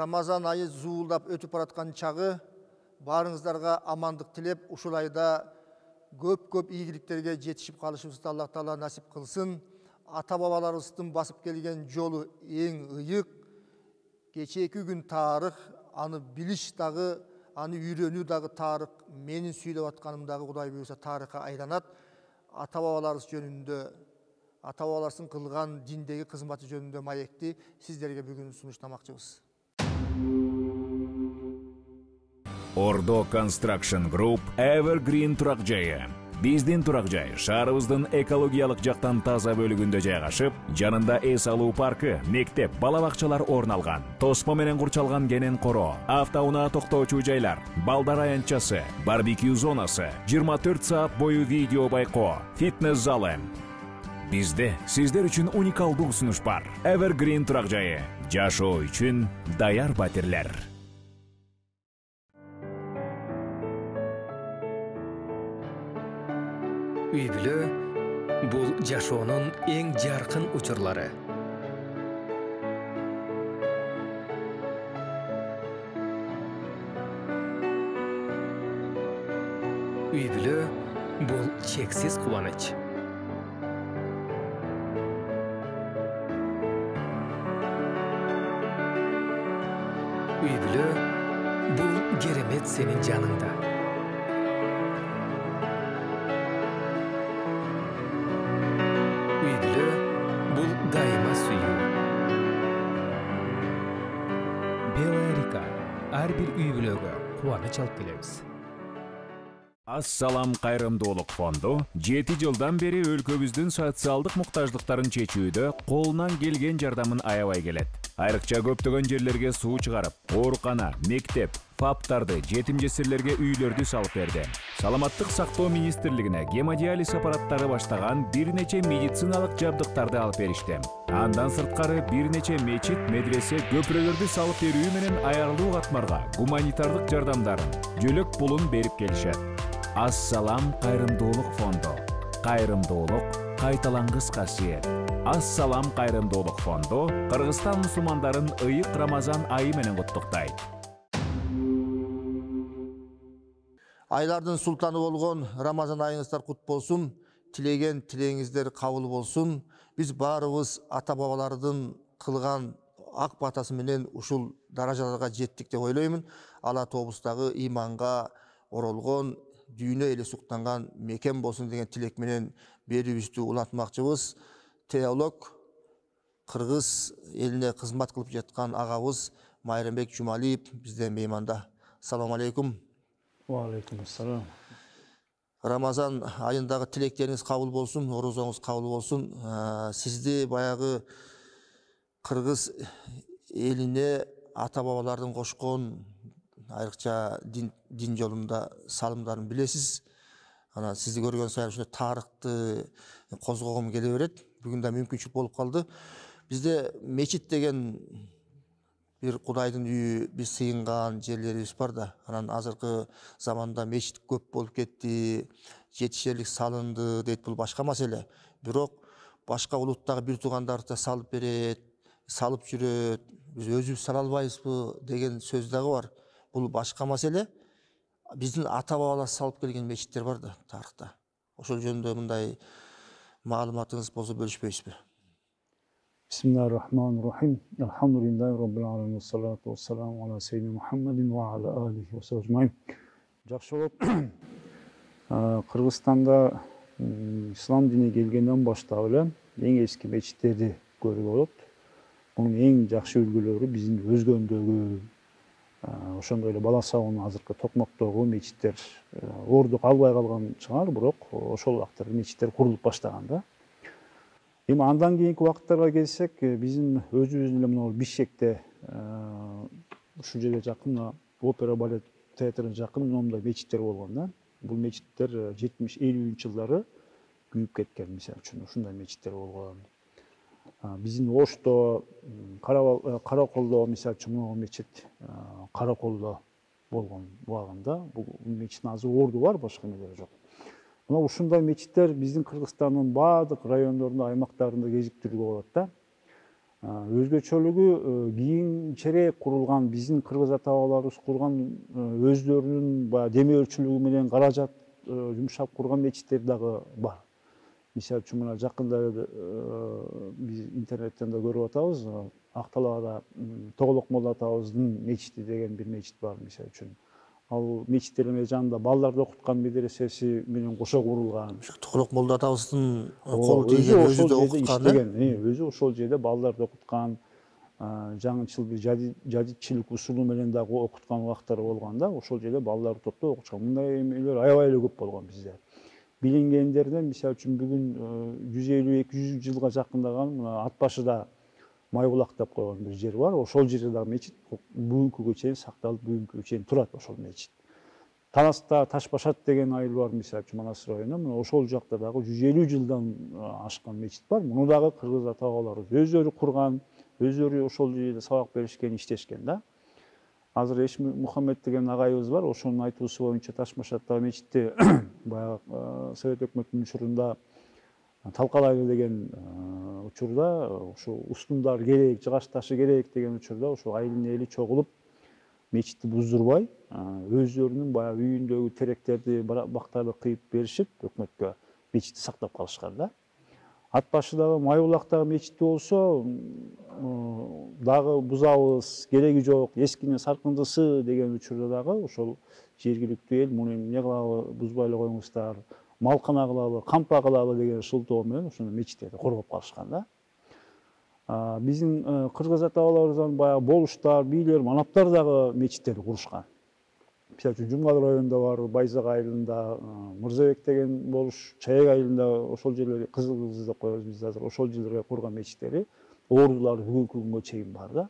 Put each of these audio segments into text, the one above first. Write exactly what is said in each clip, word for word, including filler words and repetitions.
Рамазан айы зуулдап өтүп бараткан чагы баарыңыздарга амандык тилеп, ушул айда көп-көп ийгиликтерге жетишип калышыбызды Аллах Таала насип кылсын. Ата бабаларыбыздын басып келген жолу эң ыйык. Кечээки күн тарых, аны билиш дагы, аны үйрөнүү дагы тарых, менин сүйлөп атканым дагы Кудай буйруса тарыхка айланат. Ата бабаларыбыз жөнүндө, ата бабаларыбыздын кылган диндеги кызматы жөнүндө маекти сиздерге бүгүн сунуштамакчыбыз. Ордо Construction Group Evergreen турак жайы. Биздин турак жай шаарыбыздын экологиялык жактан таза бөлүгүндө жайгашып, жанында эс алуу паркы, мектеп, бала бакчалар орун алган. Тосмо менен курчалган кенен коро, автоунаа токтоочу жайлар, балдар аянтчасы, барбекю зонасы, жыйырма төрт саат бою видео байкоо, фитнес залы. Бизде сиздер үчүн уникалдуу сунуш бар. Evergreen турак жайы. Жашоо үчүн даяр батирлер. Үй-бүлө бул жашоонун эң жаркын учурлары. Үй-бүлө бул чексиз кубаныч. Үй-бүлө бул керемет сенин жаныңда. Дайыма сүйүү. Белая река. Ар бир үй-бүлөгө кубаныч алып келебиз. Ассалам кайрымдуулук фонду жети жылдан бери өлкөбүздүн социалдык муктаждыктарын чечүүдө колунан келген жардамын аябай келет. Айрыкча көптөгөн жерлерге суу чыгарып, оорукана, мектеп, фаптарды, жетим жесирлерге үйлөрдү салып берди. Саламаттык сактоо министрлигине гемодиализ аппараттары баштаган бир нече медициналык жабдыктарды алып беришти. Андан сырткары бир нече мечит, медресе, көпүрөлөрдү салып берүү менен аярылуу катмарга гуманитардык жардамдарын, жөлөк пулун берип келишет. Ассалам кайрымдуулук фонду. Кайрымдуулук кайталангыс касиет. Ассалам кайрымдуулук фонду Кыргызстан мусулмандарын ыйык Рамазан айы менен куттуктайт. Айлардын султаны болгон Рамазан айыңыздар кут болсун. Тилеген тилегиңиздер кабыл болсун. Биз баарыбыз ата бабалардын кылган ак батасы менен ушул даражаларга жеттик деп ойлоймун. Алла тобуздагы иманга оролгон, дүйнө эле суктанган мекен болсун деген тилек менен берүүбүздү улантмакчыбыз. Теолог, Кыргыз элине кызмат кылып жаткан агабыз Майрамбек Жумалиев бизден мейманда. Салам алейкум. Ва алейкум ассалам. Рамазан айындагы тилектериңиз кабыл болсун, орозоңуз кабыл болсун. Сизди баягы Кыргыз элине ата бабалардын кошкон айрыкча дин, дин жолунда салымдарын билесиз. Ана сизди көргөн сайын ушундай тарыхты козгогум келе берет. Бүгүн да мүмкүнчүлүк болуп калды. Бизде мечит деген бир Кудайдын үйү, биз сыйынган жерлерибиз бар да. Анан азыркы заманда мечит көп болуп кетти, жетишерлик салынды дейт, бул башка маселе. Бирок башка улуттагы бир туугандар да салып берет, салып жүрөт. Биз өзүбүз сала албайбызбы деген сөз дагы бар. Бул башка маселе. Биздин ата бабалар салып келген мечиттер бар да тарыхта. Ошол жөнүндө мындай маалыматыңыз болсо бөлүшпөйсүзбү? Бисмиллахир-рахманир-рахим. Алхамдулиллахи rabbil alamin. Wassalatu wassalamu ala sayyidina Muhammadin wa ala alihi wa sahbihi. Жакшы болуп, Кыргызстанда ислам дини келгенден баштап эле эң эски мечиттерди көрүүгө болот. Мунун эң жакшы үлгүлөрү биздин Өзгөндөгү, ошондой эле Бала Сабынын азыркы Токмоктогу мечиттер орду калбай калган чыгар, бирок ошол убактарда мечиттер курулуп баштаган да. Эми андан кийинки убакыттарга келсек, биздин өзүбүздүн эле мына Бишкекте ушул жерге жакын опера балет театрына жакын номдой мечиттер болгон да. Бул мечиттер жетимиш элүүнчү жылдары күйүп кеткен, мисалы үчүн ушундай мечиттер болгон. Биздин Ошто, Караколдо мисалы үчүн могу мечит Караколдо болгон убагында. Бул мечиттин азыр орду бар, башка эмелери жок. Мына ушундай мечиттер биздин Кыргызстандын баардык райондорунда, аймактарында кезиктирүүгө болот да. Өзгөчөлүгү кийинчерээк курулган биздин кыргыз ата бабаларыбыз курган өздөрүнүн баягы демөөрчүлүгү менен каражат жумшап курган мечиттер дагы бар. Мисалы үчүн мына жакында биз интернеттен да көрүп атабыз. Акталаада Тоголок молла атабыздын мечити деген бир мечит бар мисалы үчүн. Ал мечиттердин жанында балдарды окуткан медресеси менен кошо курулган. Тоголок молла атабыздын колу тийген, өзү да окуткан, өзү ошол жерде балдарды окуткан, жаңычыл бир жадитчилик усулу менен дагы окуткан убактары болгон да, ошол жерде балдарды топтоп окутушкан. Мындай эмелер аябай эле көп болгон бизде. Билингендерден мисалы үчүн бүгүн жүз элүү эки жүз жылга жакындаган мына ат башыда Майбулак деп койгон бир жер бар. Ошол жерде дагы мечит бүгүнкүгө чейин сакталып, бүгүнкүгө чейин турат ошол мечит. Танаста Ташбашат деген айыл бар мисалы үчүн Манас районунда. Мына ошол жакта дагы жүз элүү жылдан ашкан мечит бар. Муну дагы кыргыз ата бабаларыбыз өздөрү курган, өздөрү ошол жерде сабак беришкен, иштешкен да. Азыр Эш Мухаммед деген агайыбыз бар. Ошонун айтуусу боюнча Ташбашаттагы мечитти баягы Совет өкмөтүнүн учурунда талкалайлы деген учурда ошо устундар керек, жыгач ташы керек деген учурда ошо айылдын эли чогулуп мечитти буздурбай, өздөрүнүн баягы үйүндөгү теректерди, бактарды кыйып беришип өкмөткө мечитти сактап калышкан да. Ат башыдагы Майбулактагы мечитти болсо дагы бузабыз, кереги жок, эскинин саркындысы деген учурда дагы ошол жергиликтүү эл муну эмне кылабы, бузбай эле коюңуздар, малкана кылабы, кампа кылабы деген шылтоо менен ошону мечиттерди коргоп калышкан да. Биздин кыргыз ата бабаларыбыздан баягы болуштар, бийлер, манаптар дагы мечиттерди курушкан. Мисалы үчүн Жумгал районунда бар, Байзак айылында, Мырзабек деген болуш, Чаек айылында ошол жерлер, Кызыл Кыз деп коебуз биз азыр, ошол жерлерге курган мечиттери ордулары бүгүнкү күнгө чейин бар да.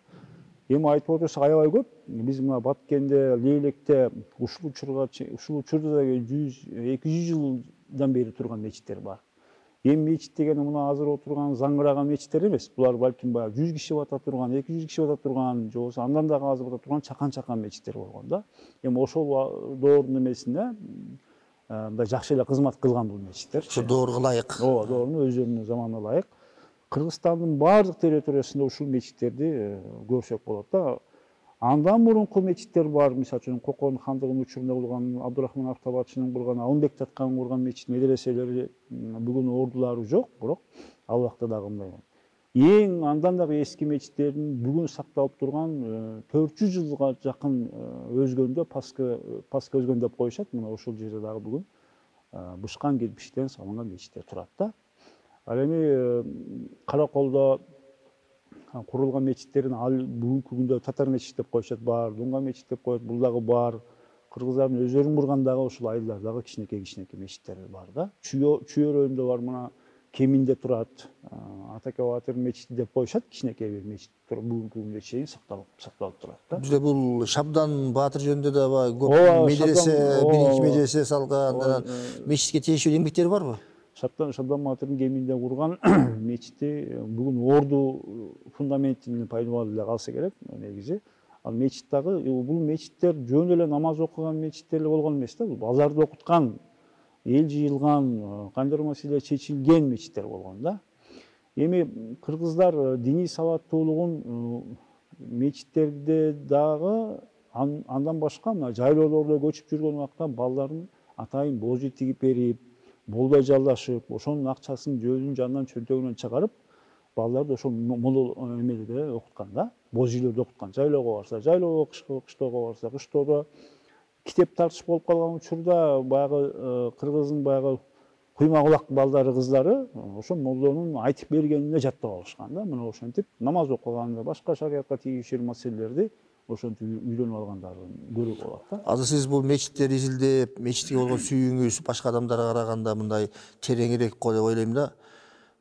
Эми айтып отурсак аябай көп. Биз мына Баткенде, Лейлекте ушул учурга ушул учурда да жүз эки жүз жылдан бери турган мечиттер бар. Эми мечит дегени мына азыр отурган заңгыраган мечиттер эмес. Булар балким баягы жүз киши бата турган, эки жүз киши бата турган, же болбосо андан дагы аз бата турган чакан-чакан мечиттер болгон да. Эми ошол доордун эмесинде мындай жакшы эле кызмат кылган бул мечиттер. Ошо доорго ылайык. Ооба, доорунун өздөрүнүн заманына ылайык. Кыргызстандын баардык территориясында ушул мечиттерди көрсөк болот да. Андан мурунку мечиттер бар, мисалы үчүн Кокон хандыгынын учурунда курган, Абдурахман Автабатчынын курган, Алымбек Таткан курган мечит медреселери бүгүн ордулары жок, бирок ал убакта дагы мындай. Эң андан дагы эски мечиттердин бүгүн сакталып турган төрт жүз жылга жакын өзгөндө Паска Паска өзгөн деп коюшат. Мына ошол жерде дагы бүгүн бышкан кирпичтен салынган мечиттер турат да. Ал эми Караколдо курулган мечиттерин ал бүгүнкү күндө Татар мечит деп коюшат бар, Дунга мечит деп коет, бул дагы бар. Кыргыздардын өздөрүн курган дагы ушул айылдардагы кичинекей-кичинекей мечиттер бар да. Чүй районунда бар, мына Кеминде турат. Атаке Батыр мечити деп коюшат, кичинекей бир мечит туруп бүгүнкү күнгө чейин сакталып сакталып турат да. Бизде бул Шабдан Батыр жөнүндө да көп медресе, биринчи медресе салган, мечитке тийиштүү эмгектери барбы? Шабдан Шабдан Батырдын Кеминде курган мечити бүгүн орду фундаментинин пайдаланып эле калса керек негизи. Ал мечит дагы бул мечиттер жөн эле намаз окуган мечиттер эле болгон эмес да. Бул балдарды окуткан, эл жыйылган, кандайдыр маселе чечилген мечиттер болгон да. Эми кыргыздар диний сабаттуулугун мечиттерде дагы андан башка мына жайлоолордо көчүп жүргөн убакта балдарын атайын божий тигип берип, болбой жалдашып, ошонун акчасын жөзүнүн жанынан чөнтөгүнөн чыгарып, балдарды ошол моло эмелерде окуткан да, божийлерди окуткан. Жайлоого барса, жайлоого, кыштоого барса, кыштоодо китеп тартыш болуп калган учурда баягы кыргыздын баягы куйма кулак балдары, кыздары ошо моллонун айтып бергенине жаттап алышкан да. Мына ошентип намаз окуганда башка шариатка тийишер маселелерди ошентип үйрөнүп алгандарын көрүүгө болот да. Азыр сиз бул мечиттерди изилдеп, мечитке болгон сүйүүңүз башка адамдарга караганда мындай тереңирээк го деп ойлойм да.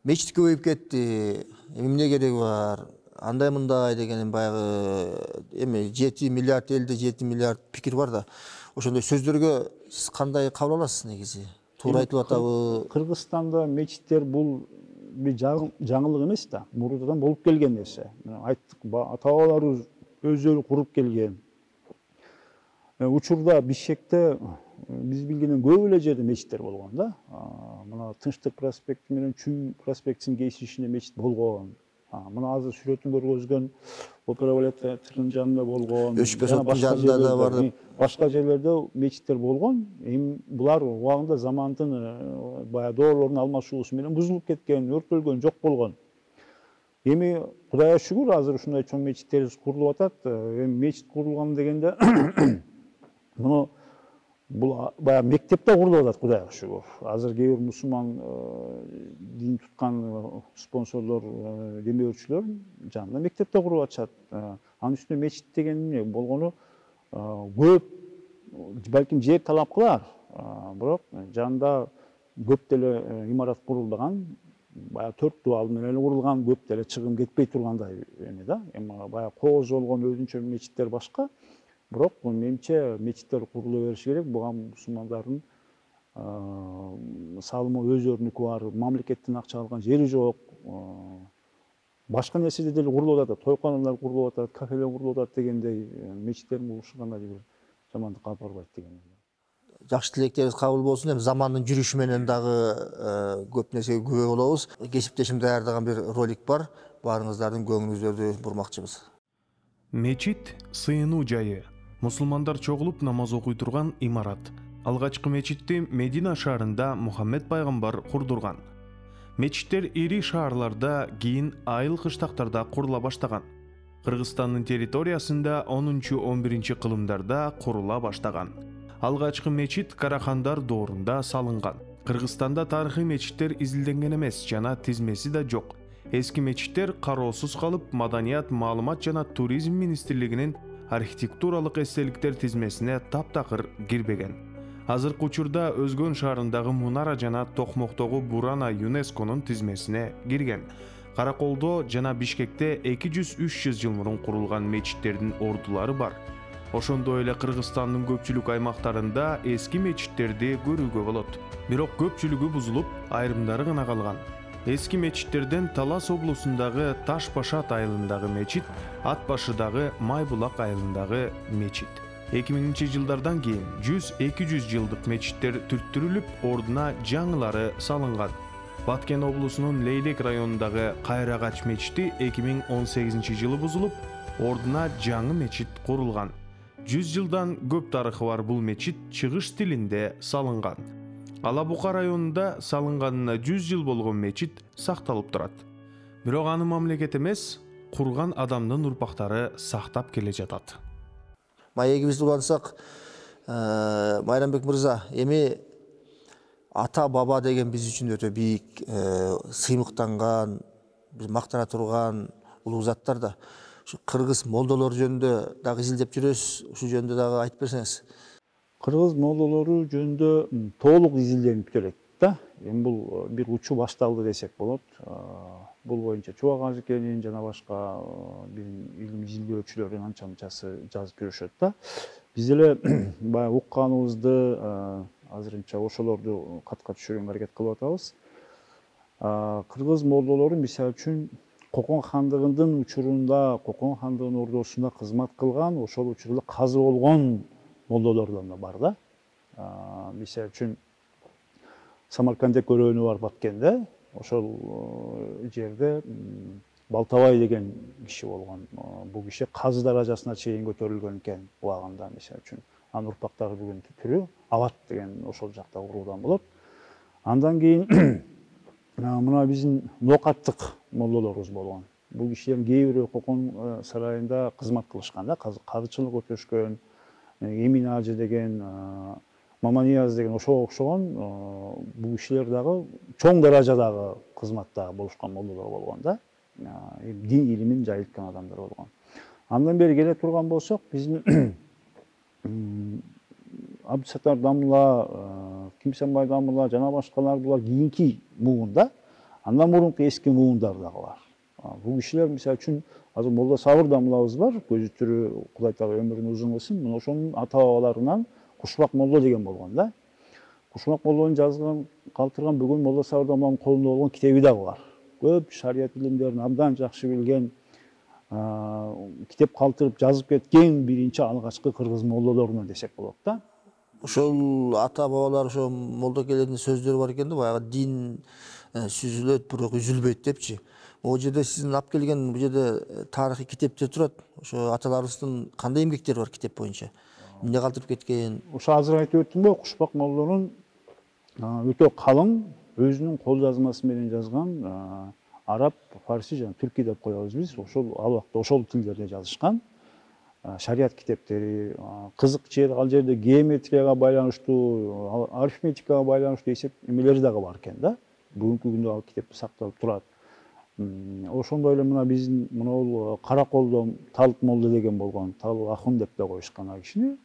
Мечит көбөйүп кетти. Эмне кереги бар? Андай мындай деген баягы эми жети миллиард элде жети миллиард пикир бар да. Ошондой сөздөргө сиз кандай кабыл аласыз негизи? Туура айтылып атабы? Кыргызстанда мечиттер бул бир жаңылык эмес да. Мурунтан болуп келген нерсе. Айттык, ата бабаларыбыз өздөрү куруп келген. Учурда Бишкекте биз билгенден көп эле жерде мечиттер болгон да. Мына Тынчтык проспекти менен Чүй проспектисинин кесишинде мечит болгон. Мына азыр сүрөтүн көргөзгөн опера балет театрынын жанында болгон, Өчпө жана соттун башка жанында да жерлерде, бар деп. башка жерлерде мечиттер болгон. Эми булар убагында замандын баягы доорлордун алмашуусу менен бузулуп кеткен, өрттөлгөн, жок болгон. Эми Кудайга шүгүр азыр ушундай чоң мечиттерибиз курулуп атат. Эми мечит курулган дегенде муну бул баягы мектепте курулуп атат, Кудайга шүгүр. Азыр кээ бир мусулман дин туткан спонсорлор, демөөрчүлөр жанында мектепте куруп атышат. Анын үстүнө мечит деген эмне болгону көп, балким жер талап кылар, бирок жанында көп деле имарат курулбаган, баягы төрт дубал менен эле курулган, көп деле чыгым кетпей тургандай эме да. Эми баягы кооз болгон өзүнчө мечиттер башка. Бирок менимче мечиттер курулу бериш керек. Буга мусулмандардын салымы өздөрүнүкү бар, мамлекеттин акча алган жери жок. Башка нерседе деле курулуп атат, тойканалар курулуп атат, кафелер курулуп атат дегендей, мечиттердин курулушу кандайдыр бир жамандыкка алып барбайт деген. Жакшы тилектериңиз кабыл болсун. Эми замандын жүрүшү менен дагы көп нерсеге күбө болобуз. Кесиптешим даярдаган бир ролик бар. Баарыңыздардын көңүлүңүздөрдү бурмакчыбыз. Мечит сыйынуу жайы. Мусулмандар чогулуп намаз окуй турган имарат. Алгачкы мечитти Медина шаарында Мухаммед пайгамбар курдурган. Мечиттер ири шаарларда, кийин айыл кыштактарда курула баштаган. Кыргызстандын территориясында онунчу он биринчи кылымдарда курула баштаган. Алгачкы мечит Карахандар доорунда салынган. Кыргызстанда тарыхый мечиттер изилденген эмес жана тизмеси да жок. Эски мечиттер кароосуз калып, Маданият, маалымат жана туризм министрлигинин архитектуралык эстеликтер тизмесине таптакыр кирбеген. Азыркы учурда Өзгөн шаарындагы Мунара жана Токмоктогу Бурана ЮНЕСКОнун тизмесине кирген. Караколдо жана Бишкекте эки жүз үч жүз жыл мурун курулган мечиттердин ордулары бар. Ошондой эле Кыргызстандын көпчүлүк аймактарында эски мечиттерди көрүүгө болот. Бирок көпчүлүгү бузулуп, айрымдары гана калган. Эски мечиттерден Талас облусундагы Таш Башат айылындагы мечит, Ат башыдагы Майбулак айылындагы мечит. эки миңинчи жылдардан кийин жүз эки жүз жылдык мечиттер түрттүрүлүп, ордуна жаңылары салынган. Баткен облусунун Лейлек районундагы Кайрагач мечити эки миң он сегизинчи жылы бузулуп, ордуна жаңы мечит курулган. жүз жылдан көп тарыхы бар бул мечит чыгыш тилинде салынган. Ала Бука районунда салынганына жүз жыл болгон мечит сакталып турат. Бирок аны мамлекет эмес, курган адамдын урпактары сактап келе жатат. Маегибизди улантсак, Майрамбек мырза, эми ата баба деген биз үчүн өтө бийик, сыймыктанган, биз мактана турган улуу заттар да. Ушу кыргыз молдолор жөнүндө дагы изилдеп жүрөбүз. Ушу жөнүндө дагы айтып берсеңиз. Кыргыз молдолору жөнүндө толук изилденип келет да. Эми бул бир учуу башталды десек болот. Бул боюнча Чубак Ажыкенин жана башка бир илим изилдөөчүлөрдүн анча мынчасы жазып жүрүшөт да. Биз деле баягы укканыбызды азырынча ошолорду катка түшүргөнгө аракет кылып атабыз. Кыргыз молдолору мисалы үчүн Кокон хандыгынын учурунда, Кокон хандыгынын ордосунда кызмат кылган, ошол учурда казы болгон молдолордон да бар да. Мисалы үчүн Самаркандек көрөөнү бар Баткенде, ошол жерде Балтабай деген киши болгон. Бул киши казы даражасына чейин көтөрүлгөн экен убагында, мисалы үчүн. Анын урпактары бүгүн түрү Абат деген ошол жакта курулган болот. Андан кийин мына биздин ноокаттык молдолорубуз болгон. Бул кишилердин кээ бирөө Кокон сарайында кызмат кылышкан да, казычылык өтөшкөн, Эмин Ажы деген, Маманияз деген ошого окшогон бул кишилер дагы чоң даражадагы кызматта болушкан молдолор болгон да. Дин илимин жайылткан адамдар болгон. Андан бери келе турган болсок, биздин Абдысаттар Дамла, Кимсенбай Дамла жана башкалар булар кийинки муунда. Андан мурунку эски муундар дагы бар. Бул кишилер мисалы үчүн азыр Молда Сабыр Дамлабыз бар, көзү тирүү, Кудай Таала өмүрүн узун кылсын. Мына ошонун ата бабаларынан Кушбак молдо деген болгон да. Кушбак молдонун жазган, калтырган бүгүн Молда Сабыр Дамланын колунда болгон китеби дагы бар. Көп шарият илимдерин абдан жакшы билген, китеп калтырып жазып кеткен биринчи алгачкы кыргыз молдолорунан десек болот да. Ошол ата бабалар ошо молдо келердин сөздөрү бар экен да, баягы дин сүзүлөт, бирок үзүлбөйт депчи. Могу жерде сиздин алып келген бул жерде тарыхый китептер турат. Ошо аталарыбыздын кандай эмгектери бар китеп боюнча? Эмне калтырып кеткен? Ошо азыр айтып өттүм го, Кушпак молдонун өтө калың өзүнүн кол жазмасы менен жазган араб, фарси жана түрки деп коебуз биз. Ошол ал убакта ошол тилдерде жазышкан шарият китептери, кызык жери ал жерде геометрияга байланыштуу, арифметикага байланыштуу эсеп эмелери дагы бар экен да. Бүгүнкү күндө ал китеп сакталып турат. Ошондой эле мына биздин мына кара колдо Талык молдо деген болгон, Талык ахун деп да коюшкан ал кишини.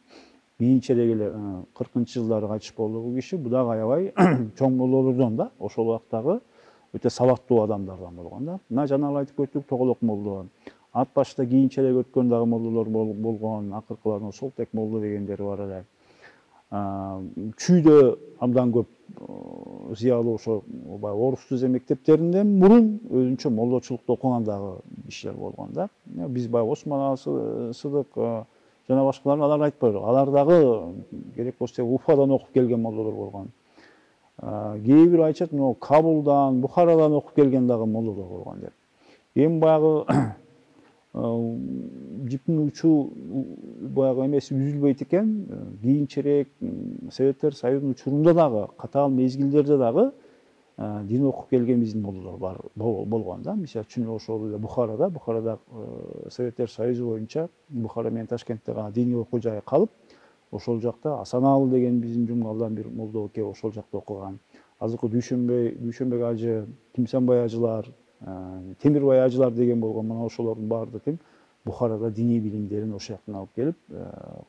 Кийинчерээк эле кыркынчы жылдары кайтыш болду бул киши. Бу дагы аябай чоң молдолордон да, ошол убактагы өтө сабаттуу адамдардан болгон да. Мына жана айтып өттүк Тоголок молдо. Ат башта кийинчерээк өткөн дагы молдолор болгон, акыркылардан Солтек молдо дегендери бар эле. Чүйдө абдан көп зыялуу ошо орус түзө мектептеринден мурун өзүнчө молдочулукту окуган дагы кишилер болгон да. Биз баягы Осмон Сыдык жана башкалар алар айтпайлы. Алар дагы керек болсо Уфадан окуп келген молдолор болгон. Кээ бир айтышат, мына Кабулдан, Бухарадан окуп келген дагы молдолор болгон деп. Эми баягы жиптин учу баягы эмеси үзүлбөйт экен. Кийинчерээк Советтер Союзунун учурунда дагы, катаал мезгилдерде дагы дин окуп келген биздин молдолор бар болгон да. Мисалы үчүн ошол эле Бухарада, Бухарада Советтер Союзу боюнча Бухара менен Ташкентте гана диний окуу жайы калып, ошол жакта Асаналы деген биздин жумгалдан бир молдо келип ошол жакта окуган. Азыркы Дүйшөнбөй, Дүйшөнбек ажы, Кимсанбай ажылар, Темирбай ажылар деген болгон. Мына ошолордун баары тең Бухарада диний билимдерин ошол жактан алып келип,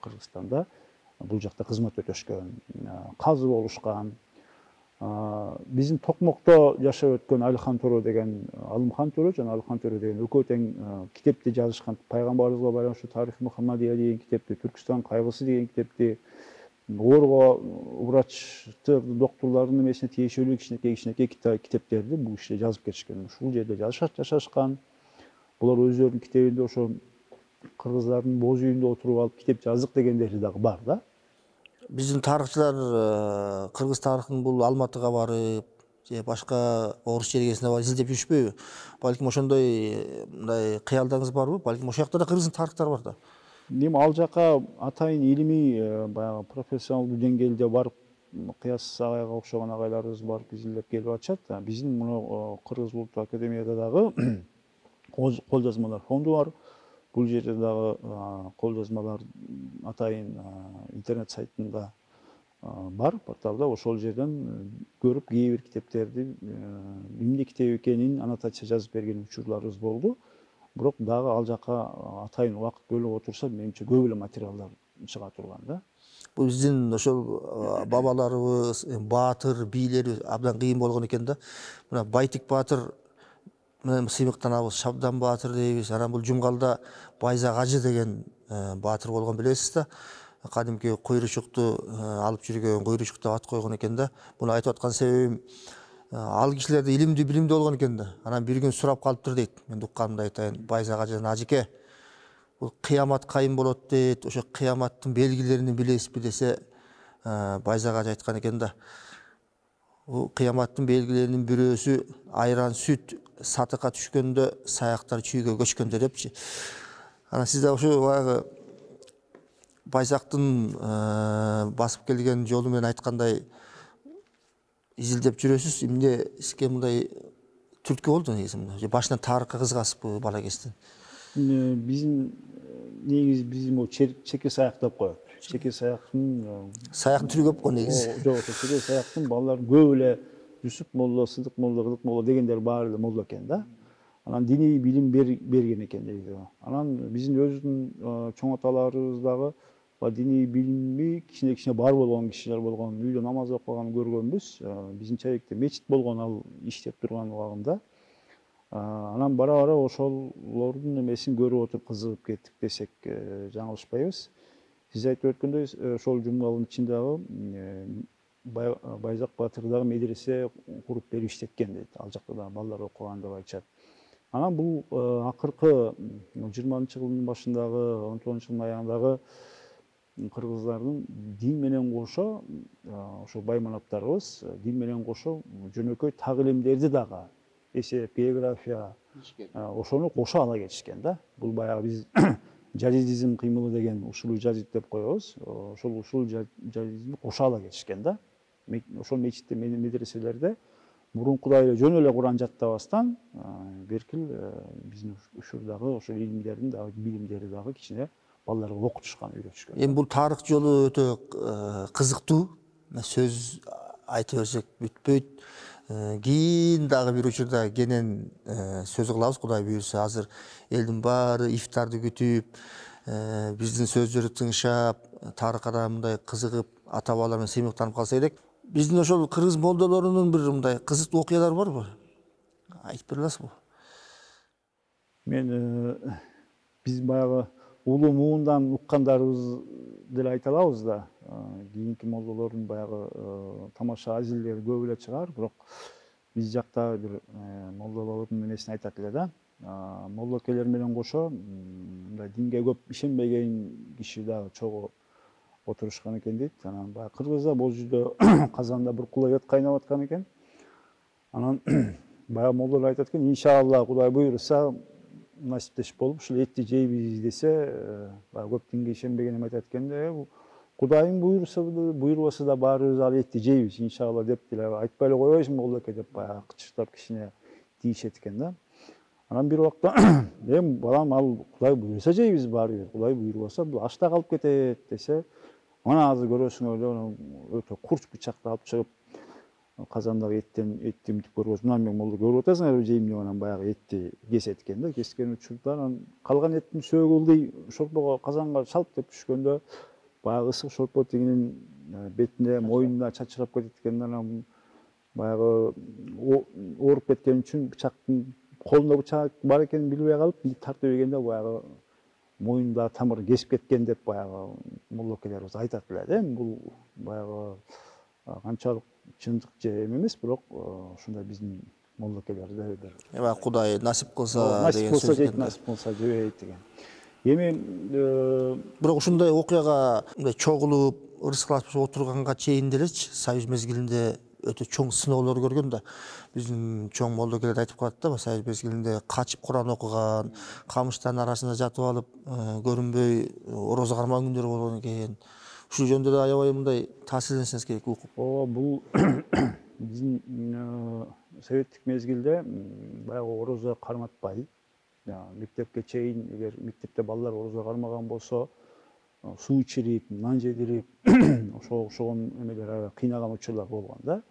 Кыргызстанда бул жакта кызмат өтөшкөн, казы болушкан. Биздин Токмокто жашап өткөн Алихан Төрө деген, Алымхан Төрө жана Алихан Төрө деген экөө тең китепти жазышкан. Пайгамбарыбызга байланыштуу Тарих Мухаммадия деген китепти, Түркүстан кайгысы деген китепти, Орго врачтар, доктурлардын эмесине тиешелүү кичинекей кичинекей китептерди бул кишилер жазып кетишкен. Ушул жерде жашашкан. Булар өздөрүнүн китебинде ошо кыргыздардын боз үйүндө отуруп алып китеп жаздык дегендери дагы бар да. Биздин тарыхчылар кыргыз тарыхын бул Алматыга барып, же башка орус жергесине барып изилдеп жүрүшпөйбү? Балким ошондой мындай кыялдарыңыз барбы? Балким ошол жакта да кыргыздын тарыхтары бар да. Эми ал жака атайын илимий баягы профессионалдуу деңгээлде барып, Кыяс агайга окшогон агайларыбыз барып изилдеп келип атышат. Биздин мына Кыргыз Улуттук Академияда дагы кол жазмалар фонду бар. Бул жерде дагы кол жазмалар атайын интернет сайтында бар, порталда. Ошол жерден көрүп кээ бир китептерди эмне китеп экенин аннотация жазып берген учурларыбыз болду. Бирок дагы ал жака атайын убакыт бөлүп отурса, менимче көп эле материалдар чыга турган да. Бул биздин ошол бабаларыбыз, баатыр, бийлери абдан кыйын болгон экен да. Мына Байтик баатыр менен сыймыктанабыз, Шабдан баатыр дейбиз. Анан бул Жумгалда Байзак ажы деген баатыр болгон, билесиз да. Кадимки куйручукту алып жүргөн, куйручук деп ат койгон экен да. Муну айтып аткан себебим, ал кишилерде илимдүү, билимдүү болгон экен да. Анан бир күн сурап калыптыр дейт. Мен укканымды айтайын. Байзак ажыдан: ажыке, бул кыямат кайын болот дейт. Ошо кыяматтын белгилерин билесизби десе, Байзак ажы айткан экен да. Бул кыяматтын белгилеринин бирөөсү айран сүт сатыкка түшкөндө, саяктар чүйгө көчкөндө депчи. Анан сиз да ошо баягы Байзактын басып келген жолу менен айткандай изилдеп жүрөсүз. Эмне сизге мындай түрткү болду негизи? Же башынан тарыхка кызыгасызбы бала кезинен? Биздин негизи биздин могу чеке саяк деп коет. Чеке саяктын саяктын түрү көп го негизи. Жок, чеке саяктын балалар көп эле Жүсүп молдо, Сыдык молдо, Кыдык молдо дегендер баары эле молдо экен да. Анан диний билим берген экен дейт. Анан биздин өзүбүздүн чоң аталарыбыз дагы диний билими кичине-кичине бар болгон кишилер болгон. Үйдө намаз окуганын көргөнбүз. Биздин чайыкта мечит болгон ал иштеп турган убагында. Анан бара-бара ошолордун эмесин көрүп отуруп кызыгып кеттик десек жаңылышпайбыз. Сиз айтып өткөндөй ошол жумгалдын ичинде дагы Байзак баатыр дагы медресе куруп берип иштеткен дейт. Ал жакта да балдар окуган деп айтышат. Анан бул акыркы жыйырманчы жылдын башындагы, он тогузунчу жылдын аягындагы кыргыздардын дин менен кошо ошо байманаптарыбыз дин менен кошо жөнөкөй так илимдерди дагы эсеп, география ошону кошо ала кетишкен да. Бул баягы биз жазидизм кыймылы деген ушул жазид деп коебуз. Ошол ушул жазидизмди кошо ала кетишкен да. Ошол мечитте, медреселерде мурункудай эле жөн эле Куран жаттабастан беркил биздин ушурдагы ошол илимдердин дагы билимдери дагы кичине балдарга окутушкан, үйрөтүшкөн. Эми бул тарых жолу өтө кызыктуу. Сөз айта берсек бүтпөйт. Кийин дагы бир учурда кенен сөз кылабыз, Кудай буйрса. Азыр элдин баары ифтарды күтүп, биздин сөздөрдү тыңшап, тарыхка мындай кызыгып, ата бабалар менен сыймыктанып калса керек. Биздин ошол кыргыз молдолорунун бир мындай кызыктуу окуялары барбы? Айтып бере аласызбы? Мен биз баягы улуу муундан уккандарыбыз деле айта алабыз да. Кийинки молдолордун баягы тамаша азилдери көп эле чыгар, бирок биз жакта бир молдолордун эмесин айтат эле да. Молдокелер менен кошо мындай динге көп ишенбеген киши дагы чогуу отурушкан экен дейт. Анан баягы Кыргызда бул жерде казанда бир кулай эт кайнап аткан экен. Анан баягы молдолор айтат экен, иншалла Кудай буйрса насиптеш болуп ушул этти жейбиз десе, баягы көп динге ишенбеген эми айтат экен да, Кудайым буйрса буйрбаса да баарыбыз ал этти жейбиз иншалла деп деле айтпай эле койбойсуңбу молдоке деп баягы кычыртап кичине тийишет экен да. Анан бир убакта эми балам ал Кудай буйрса жейбиз баарыбыз, Кудай буйрбаса бул ашта калып кетет десе, мына азыр көрөсүңөр эле өтө курч бычакты алып чыгып казандагы эттен этти мынтип көргөз, мына мен молдо көрүп атасыңарбы жейм деп анан баягы этти кесет экен да. Кескен учурда анан калган эттин сөөгүлдүй шорпого казанга шалп деп түшкөндө баягы ысык шорпо тигинин бетине, мойнуна чачырап кетет экен. Анан баягы ооруп кеткен үчүн бычактын колунда бычак бар экенин билбей калып, тартып ийгенде баягы мойнунда тамырын кесип кеткен деп баягы молдокелерибиз айтат эле да. Бул баягы канчалык чындык же эме эмес, бирок ушундай биздин молдокелерде бир эми Кудай насип кылса насип кылса жейт, насип кылса жебейт деген. Эми бирок ушундай окуяга мындай чогулуп, ырыскалашып отурганга чейин делечи Союз мезгилинде өтө чоң сыноолор көргөн да. Биздин чоң молдокелер айтып калат да, Союз мезгилинде качып Куран окуган, камыштардын арасында жатып алып, көрүнбөй орозо кармаган күндөр болгон экен. Ушул жөнүндө да аябай мындай таасирленсеңиз керек окуп. Ооба, бул биздин советтик мезгилде баягы орозо карматпай, мектепке чейин эгер мектепте балдар орозо кармаган болсо, суу ичирип, нан жедирип, ошого окшогон эмелер кыйнаган учурлар болгон да.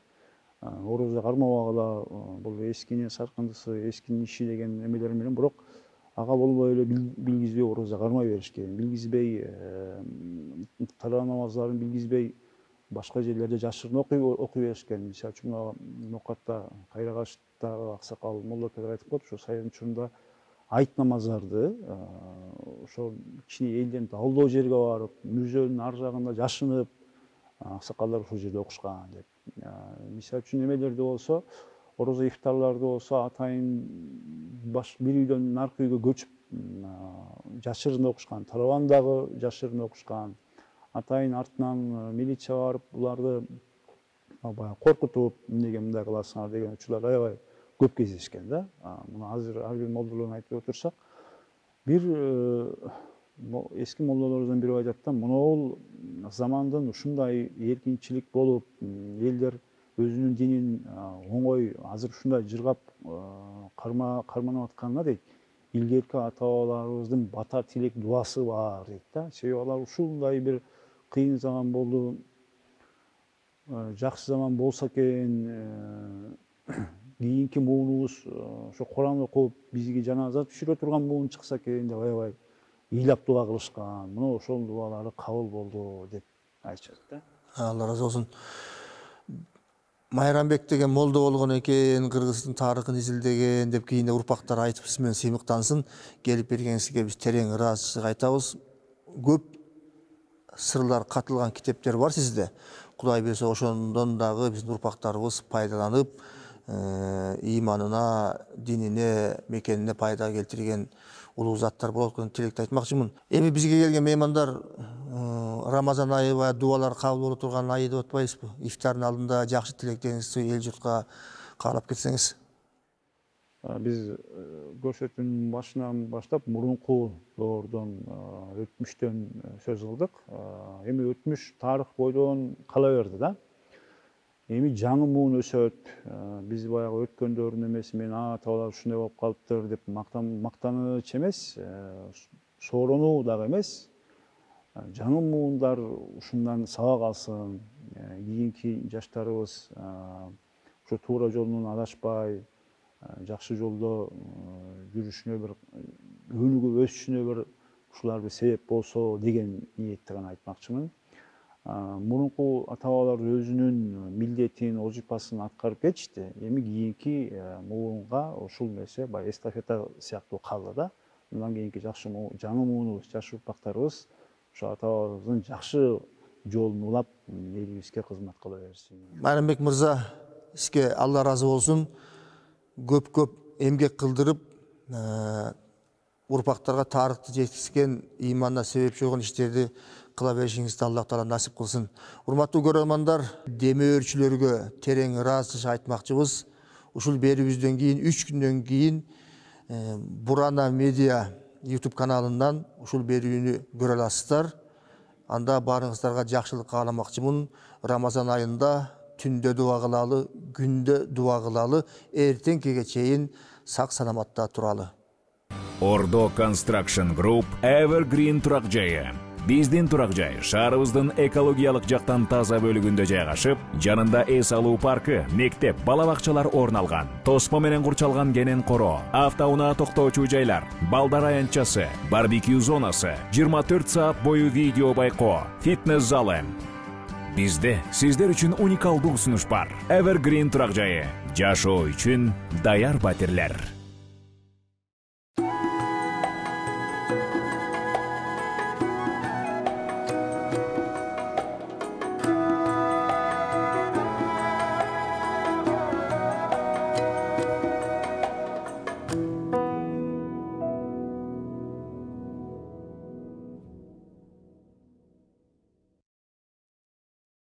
Орозо кармабагыла, бул эскинин саркындысы, эскинин иши деген эмелер менен, бирок ага болбой эле билгизбей орозо кармай беришкен. Билгизбей, тараа намаздарын билгизбей, башка жерлерде жашырын окуй беришкен. Мисалы үчүн Нокатта, Кайрагачтагы аксакал молдокелер айтып коет, ошо сайын учурунда айт намаздарды ошо кичине элден далдоо жерге барып, мүрзөнүн ар жагында жашынып, аксакалдар ошол жерде окушкан деп. Мисалы үчүн эмелерде болсо, орозо ифтарларды болсо атайын баш бир үйдөн наркы үйгө көчүп жашырын окушкан, таравандагы жашырын окушкан. Атайын артынан милиция барып буларды баягы коркутуп, эмнеге мындай кыласыңар деген учурлар аябай көп кездешкен да. Муну азыр ар бир молдолордун айтып отурсак, бир эски молдолордун бири айтат да, монол замандын ушундай эркинчилик болуп, элдер өзүнүн динин оңой азыр ушундай жыргап карманып атканына дейт, илгерки ата бабаларыбыздын бата тилек дуасы бар дейт да. Себеби алар ушундай бир кыйын заман болду, жакшы заман болсо экен, кийинки муунубуз ошо Куран окуп бизге жаназа түшүрө турган муун чыкса экен деп аябай ыйлап дуба кылышкан. Мына ошол дубалары кабыл болду деп айтышат да. Алла разы болсун. Майрамбек деген молдо болгон экен, Кыргыздын тарыхын изилдеген деп кийинде урпактар айтып сиз менен сыймыктансын. Келип бергениңизге биз терең ыраазычылык айтабыз. Көп сырлар катылган китептер бар сизде. Кудай буйрса ошондон дагы биздин урпактарыбыз пайдаланып, иманына, динине, мекенине пайда келтирген улуу заттар болот экен тилекти айтмакчымын. Эми бизге келген меймандар Рамазан айы баягы дубалар кабыл боло турган айы деп атпайсызбы? Ифтардын алдында жакшы тилектериңизди эл журтка каалап кетсеңиз. Биз көрсөтүүнүн башынан баштап мурунку доордон, өтмүштөн сөз кылдык. Эми өтмүш тарых бойдон кала берди да. Эми жаңы муун өсөт. Биз баягы өткөндөрдүн эмеси менен ата-бабалар ушундай болуп калыптыр деп мактаныч эмес, сооронуу дагы эмес. Жаңы муундар ушундан сабак алсын, кийинки жаштарыбыз ушу туура жолдон адашпай, жакшы жолдо жүрүшүнө бир өнүгүп өсүшүнө бир ушулар бир себеп болсо деген ниетте гана айтмакчымын. Мурунку ата-бабалар өзүнүн милдетин, вазифасын аткарып кетишти. Эми кийинки муунга ушул нерсе баягы эстафета сыяктуу калды да. Мындан кийинки жакшы жаңы муунубуз, жаш урпактарыбыз ушу ата-бабабыздын жакшы жолун улап элибизге кызмат кыла берсин. Майрамбек мырза, сизге Алла ыраазы болсун. Көп-көп эмгек кылдырып, урпактарга тарыхты жеткизген, иманына себепчи болгон иштерди кыла беришиңизди Аллах Таала насип кылсын. Урматтуу көрөрмандар, демөөрчүлөргө терең ыраазычылык айтмакчыбыз. Ушул берүүбүздөн кийин үч күндөн кийин Бурана медиа YouTube каналынан ушул берүүнү көрө аласыздар. Анда барыңыздарга жакшылык кааламакчымын. Рамазан айында түндө дуа кылалы, күндө дуа кылалы, эртеңкиге чейин сак саламатта туралы. Ордо Construction Group Evergreen турак жайы. Биздин турак жай шаарыбыздын экологиялык жактан таза бөлүгүндө жайгашып, жанында эс алуу паркы, мектеп, бала бакчалар орун алган. Тосмо менен курчалган кенен коро, автоунаа токтоочу жайлар, балдар аянтчасы, барбекю зонасы, жыйырма төрт саат бою видео байкоо, фитнес залы. Бизде сиздер үчүн уникалдуу сунуш бар. Evergreen турак жайы. Жашоо үчүн даяр батирлер.